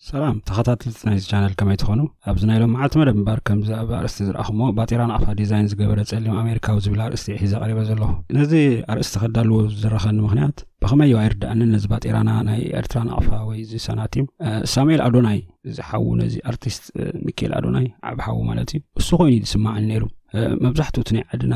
ሰላም ተኸታተልቲ ናይዚ ቻነል፣ ከመይ ትኾኑ? ኣብዚ ናይ ሎም መዓልቲ መደብ እምበር፣ ከምዚ ኣብ ኣርእስቲ ዝረኣኹሞ፣ ባጤራ ናቕፋ ዲዛይን ዝገበረ ጸሊም ኣሜሪካዊ ዝብል ኣርእስቲ እየ ሒዘ ቀሪበ ዘለኹ። ነዚ ኣርእስቲ ከዳልዎ ዝደረኸኒ ምኽንያት፣ ብኸመይ እዩ ኣይርድኣንን፣ ነዚ ባጤራና ናይ ኤርትራ ናቕፋ ወይ እዚ ሰናቲም፣ እ፣ ሳሙኤል ኣዶናይ፣ እዚ ሓዉ ነዚ ኣርቲስት፣ እ፣ ሚካኤል ኣዶናይ ዓቢ ሓዉ ማለት እዩ፣ እሱ ኮይኑ እዩ ዝስማዓኒ ነይሩ። እ፣ መብዛሕትኡ እቲ ናይ ዓድና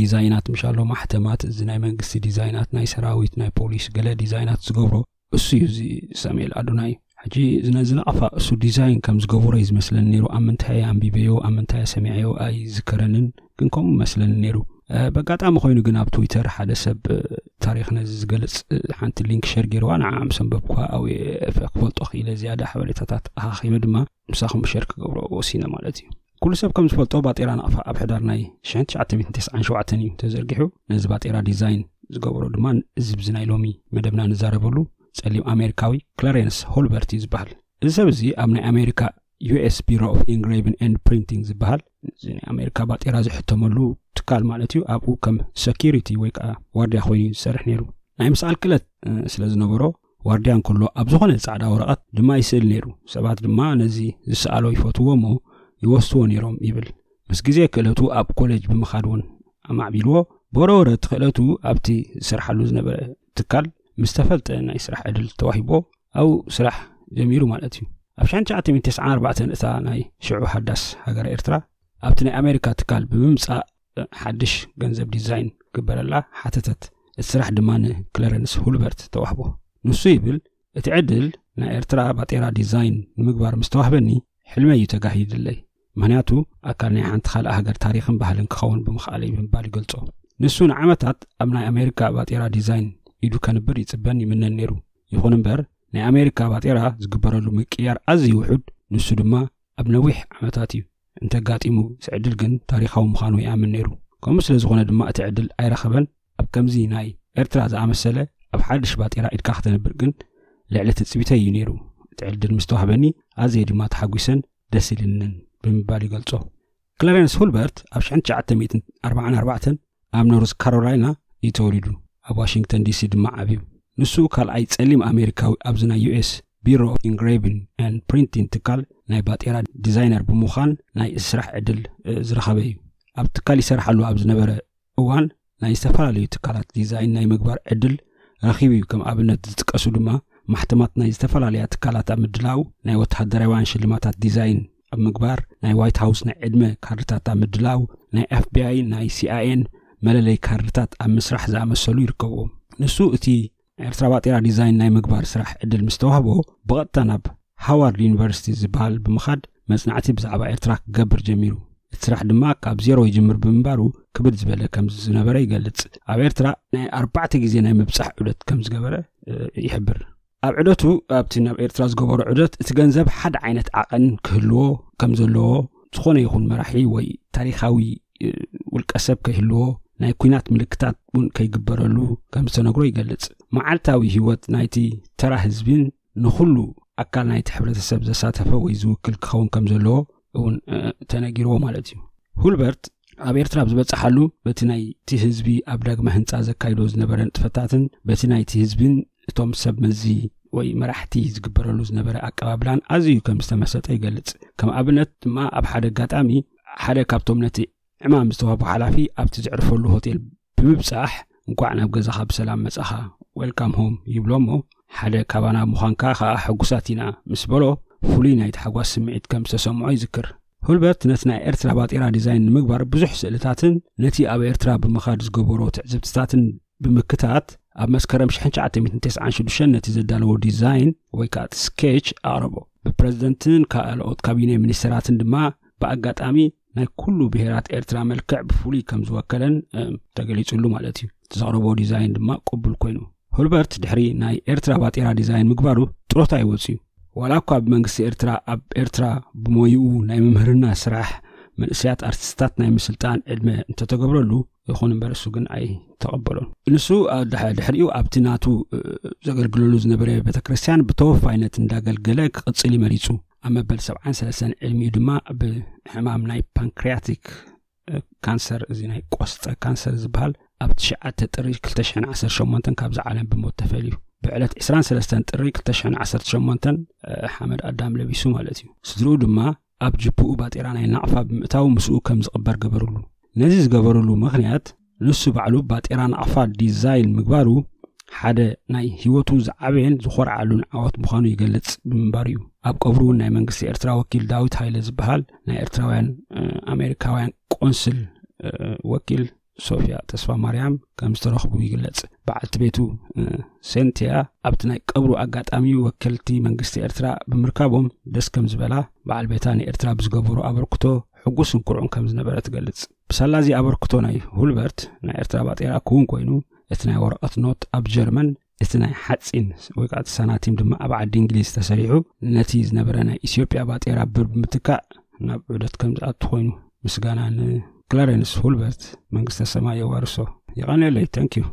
ዲዛይናት ምሻሎ ማሕተማት፣ እዚ ናይ መንግስቲ ዲዛይናት፣ ናይ ሰራዊት፣ ናይ ፖሊስ፣ ገለ ዲዛይናት ዝገብሮ እሱ እዩ፣ እዚ ሳሙኤል ኣዶናይ። ሕጂ እዚ ነዚ ናቕፋ እሱ ዲዛይን ከም ዝገበሮ እዩ ዝመስለኒ ነይሩ። ኣብ ምንታይ ኣንቢበዮ፣ ኣብ ምንታይ ሰሚዐዮ ኣይዝከረንን፣ ግን ከምኡ መስለኒ ነይሩ። እ፣ በጋጣሚ ኮይኑ ግን ኣብ ትዊተር ሓደ ሰብ፣ እ፣ ታሪኽ ነዚ ዝገልጽ፣ እ፣ ሓንቲ ሊንክ ሸር ገይርዋ፣ ንዓ ምስ ኣንበብኩዋ ኣብየ ክፈልጦ ክኢለ፣ ዝያዳ ሓበሬታታት ኣኻኺበ ድማ ምሳኹም ሸር ክገብሮ ወሲነ ማለት እዩ። ኩሉ ሰብ ከም ዝፈልጦ ባጤራ ናቕፋ ኣብ ሕዳር ናይ ሽሕን ትሽዓተ ሚእትን ተስዓን ሸውዓተን እዩ ተዘርጊሑ። ነዚ ባጤራ ዲዛይን ዝገበሮ ድማ እዚ ብዚ ናይ ሎሚ መደብና ንዛረበሉ ጸሊም ኣሜሪካዊ ክለሬንስ ሆልበርት እዩ ዝበሃል። እዚ ሰብ እዚ ኣብ ናይ ኣሜሪካ ዩ ኤስ ቢሮ ኦፍ ኢንግሬቭን ኤንድ ፕሪንቲንግ ዝበሃል፣ እዚ ናይ ኣሜሪካ ባጤራ ዝሕተመሉ ትካል ማለት እዩ፣ ኣብኡ ከም ሰኪሪቲ ወይ ከዓ ዋርድያ ኮይኑ እዩ ዝሰርሕ ነይሩ። ናይ ምስኣል ክእለት፣ እ፣ ስለ ዝነበሮ፣ ዋርድያ እንከሎ ኣብ ዝኾነ ጻዕዳ ወረቐት ድማ ይስእል ነይሩ። ሰባት ድማ ነዚ ዝሰኣሎ ይፈትዎ እሞ ይወስድዎ ነይሮም ይብል። ምስ ግዜ ክእለቱ ኣብ ኮሌጅ ብምኻድ እውን ኣማዕቢልዎ። ብወረወረ እቲ ክእለቱ ኣብቲ ዝሰርሓሉ ዝነበረ ትካል ምስ ተፈልጠ፣ ናይ ስራሕ ዕድል ተዋሂቦ ኣብኡ ስራሕ ጀሚሩ ማለት እዩ። ኣብ ሽሕን ትሽዓተ ሚእትን ተስዓን ኣርባዕተን እታ ናይ ሽዑ ሃዳስ ሃገረ ኤርትራ ኣብቲ ናይ ኣሜሪካ ትካል ብምምጻእ ሓድሽ ገንዘብ ዲዛይን ክግበረላ ሓተተት። እቲ ስራሕ ድማ ንክለረንስ ሁልበርት ተዋህቦ። ንሱ ይብል፣ እቲ ዕድል ናይ ኤርትራ ባጤራ ዲዛይን ንምግባር ምስ ተዋህበኒ፣ ሕልመይ እዩ ተጋሂድለይ። ምኽንያቱ፣ ኣካል ናይ ሓንቲ ካልእ ሃገር ታሪኽን ባህልን ክኸውን ብምኽኣለይ ብምባል ይገልጾ። ንሱ ንዓመታት ኣብ ናይ ኣሜሪካ ባጤራ ዲዛይን ኢዱ ከንብር ይጽበን ይምነን ነይሩ። ይኹን እምበር፣ ናይ ኣሜሪካ ባጤራ ዝግበረሉ ምቅያር ኣዝዩ ውሑድ፣ ንሱ ድማ ኣብ ነዊሕ ዓመታት እዩ እንተጋጢሙ፣ እዚ ዕድል ግን ታሪኻዊ ምዃኑ ይኣምን ነይሩ። ከምኡ ስለ ዝኾነ ድማ እቲ ዕድል ኣይረኸበን። ኣብ ከምዚ ናይ ኤርትራ ዝኣመሰለ ኣብ ሓድሽ ባጤራ ኢድካ ከተንብር ግን ልዕሊ ትጽቢተይ እዩ ነይሩ። እቲ ዕድል ምስ ተዋህበኒ ኣዝየ ድማ ተሓጒሰን ደስ ኢልንን ብምባል ይገልጾ። ክለረንስ ሁልበርት ኣብ ሽሕን ትሽዓተ ሚእትን ኣርባዓን ኣርባዕተን ኣብ ኖርዝ ካሮላይና እዩ ተወሊዱ። ኣብ ዋሽንግተን ዲሲ ድማ ዓብዩ። ንሱ ካልኣይ ጸሊም ኣሜሪካዊ ኣብዚ ናይ ዩ ኤስ ቢሮ ኦፍ ኢንግሬቪን ኤንድ ፕሪንቲንግ ትካል ናይ ባጤራ ዲዛይነር ብምዃን ናይ ስራሕ ዕድል፣ እ፣ ዝረኸበ እዩ። ኣብ ትካል ይሰርሓሉ ኣብ ዝነበረ እዋን ናይ ዝተፈላለዩ ትካላት ዲዛይን ናይ ምግባር ዕድል ረኺቡ እዩ። ከም ኣብነት ዝጥቀሱ ድማ ማሕተማት ናይ ዝተፈላለያ ትካላት ኣብ ምድላው፣ ናይ ወተሃደራውያን ሽልማታት ዲዛይን ኣብ ምግባር፣ ናይ ዋይት ሃውስ ናይ ዕድመ ካርድታት ኣብ ምድላው፣ ናይ ኤፍ ቢ ኣይ፣ ናይ ሲ ኣይ ኤን መለለይ ካርድታት ኣብ ምስራሕ ዝኣመሰሉ ይርከብዎም። ንሱ እቲ ናይ ኤርትራ ባጤራ ዲዛይን ናይ ምግባር ስራሕ ዕድል ምስ ተዋህቦ፣ ብቐጥታ ናብ ሃዋርድ ዩኒቨርሲቲ ዝበሃል ብምኻድ መጽናዕቲ ብዛዕባ ኤርትራ ክገብር ጀሚሩ። እቲ ስራሕ ድማ ካብ ዜሮ ይጅምር ብምንባሩ ክብድ ዝበለ ከም ዝነበረ ይገልጽ። ኣብ ኤርትራ ናይ ኣርባዕተ ግዜ ናይ ምብጻሕ ዑደት ከም ዝገበረ፣ እ፣ ይሕብር። ኣብ ዑደቱ፣ ኣብቲ ናብ ኤርትራ ዝገበሮ ዑደት፣ እቲ ገንዘብ ሓደ ዓይነት ዓቐን ክህልዎ ከም ዘለዎ፣ ዝኾነ ይኹን መራሒ ወይ ታሪኻዊ፣ እ፣ ውልቀ ሰብ ከይህልዎ፣ ናይ ኲናት ምልክታት እውን ከይግበረሉ ከም ዝተነግሮ ይገልጽ። መዓልታዊ ህይወት ናይቲ ተራ ህዝብን ንኹሉ ኣካል ናይቲ ሕብረተሰብ ዘሳተፈ ወይ ዝውክል ክኸውን ከም ዘለዎ እውን፣ እ፣ ተነጊርዎ ማለት እዩ። ሁልበርት ኣብ ኤርትራ ኣብ ዝበጽሓሉ፣ በቲ ናይቲ ህዝቢ ኣብ ዳግመ ህንጻ ዘካይዶ ዝነበረ ንጥፈታትን በቲ ናይቲ ህዝብን እቶም ሰብ መዚ ወይ መራሕቲ ዝግበረሉ ዝነበረ ኣቀባብላን ኣዝዩ ከም ዝተመሰጠ ይገልጽ። ከም ኣብነት ድማ ኣብ ሓደ ኣጋጣሚ ሓደ ካብቶም ነቲ ዕማም ዝተዋህቦ ሓላፊ ኣብቲ ዘዕርፈሉ ሆቴል ብምብጻሕ፣ "እንቋዕ ናብ ገዛኻ ብሰላም መጻኻ፣ ዌልካም ሆም" ይብሎ እሞ፣ "ሓደ ካባና ምዃንካ ከኣ ሕጉሳት ኢና" ምስ በሎ፣ ፍሉይ ናይ ታሕጓስ ስምዒት ከም ዝተሰምዖ ይዝክር። ሁልበርት ነቲ ናይ ኤርትራ ባጤራ ዲዛይን ንምግባር ብዙሕ ስእልታትን ነቲ ኣብ ኤርትራ ብምኻድ ዝገበሮ ትዕዝብትታትን ብምክታት፣ ኣብ መስከረም ሽሕን ትሽዓተ ሚእትን ተስዓን ሽዱሽተን ነቲ ዘዳለዎ ዲዛይን ወይ ከኣ እቲ ስኬች ኣቕረቦ። ብፕረዚደንትን ካልኦት ካቢነ ሚኒስተራትን ድማ ብኣጋጣሚ ናይ ኩሉ ብሄራት ኤርትራ መልክዕ ብፍሉይ ከም ዝወከለን፣ እም፣ ተገሊጹሉ ማለት እዩ። እቲ ዘቕረቦ ዲዛይን ድማ ቅቡል ኮይኑ። ሁልበርት ድሕሪ ናይ ኤርትራ ባጤራ ዲዛይን ምግባሩ ጥሮታ ይወጽእ እዩ። ዋላ እኳ ብመንግስቲ ኤርትራ ኣብ ኤርትራ ብሞይኡ ናይ ምምህርና ስራሕ መንእሰያት ኣርቲስታት ናይ ምስልጣን ዕድመ እንተተገብረሉ፣ ይኹን እምበር እሱ ግን ኣይተቐበሎን። ንሱ ኣብ ድሕ-፣ ድሕሪኡ ኣብቲ ናቱ፣ እ፣ ዘገልግለሉ ዝነበረ ቤተክርስትያን ብተወፋይነት እንዳገልገለ ክቕጽል እዩ መሪጹ። ኣብ መበል ሰብዓን ሰለስተን ዕድሚኡ ድማ ብሕማም ናይ ፓንክሪያቲክ፣ እ፣ ካንሰር፣ እዚ ናይ ቆስጠ ካንሰር ዝበሃል፣ ኣብ ትሽዓተ ጥሪ ክልተ ሽሕን ዓሰርተ ሸሞንተን ካብዛ ዓለም ብሞት ተፈልዩ። ብዕለት ዕስራን ሰለስተን ጥሪ ክልተ ሽሕን ዓሰርተ ሸሞንተን ሓመድ ኣዳም ለቢሱ ማለት እዩ። ስድርኡ ድማ ኣብ ጅብኡ ባጤራ ናይ ናቕፋ ብምእታው ምስኡ ከም ዝቕበር ገበርሉ። ነዚ ዝገበርሉ ምኽንያት ንሱ ባዕሉ ባጤራ ናቕፋ ዲዛይን ምግባሩ ሓደ ናይ ህይወቱ ዝዓበየን ዝኾርዓሉን ዓወት ምዃኑ ይገልጽ ብምንባሩ እዩ። ኣብ ቀብሩ እውን ናይ መንግስቲ ኤርትራ ወኪል ዳዊት ሃይለ ዝበሃል ናይ ኤርትራውያን ኣሜሪካውያን ቆንስል ወኪል ሶፊያ ተስፋ ማርያም ከም ዝተረኽቡ ይግለጽ። በዓልቲ ቤቱ ሴንቲያ ኣብቲ ናይ ቀብሩ ኣጋጣሚ ወከልቲ መንግስቲ ኤርትራ ብምርካቦም ደስ ከም ዝበላ፣ በዓል ቤታ ንኤርትራ ብዝገበሩ ኣበርክቶ ሕጉስ እንኩርዑን ከም ዝነበረ ትገልጽ። ብሳላዚ ኣበርክቶ ናይ ሁልበርት ናይ ኤርትራ ባጤራ ክውን ኮይኑ፣ እቲ ናይ ወረቐት ኖት ኣብ ጀርመን፣ እቲ ናይ ሓጺን ወይ ከዓ እቲ ሳናቲም ድማ ኣብ ዓዲ እንግሊዝ ተሰሪሑ፣ ነቲ ዝነበረ ናይ ኢትዮጵያ ባጤራ ብር ብምትካእ ናብ ዑደት ከም ዝኣቱ ኮይኑ፣ ምስጋና ንክላረንስ ሁልበርት መንግስተ ሰማይ የዋርሶ። የቐንየለይ። Thank you።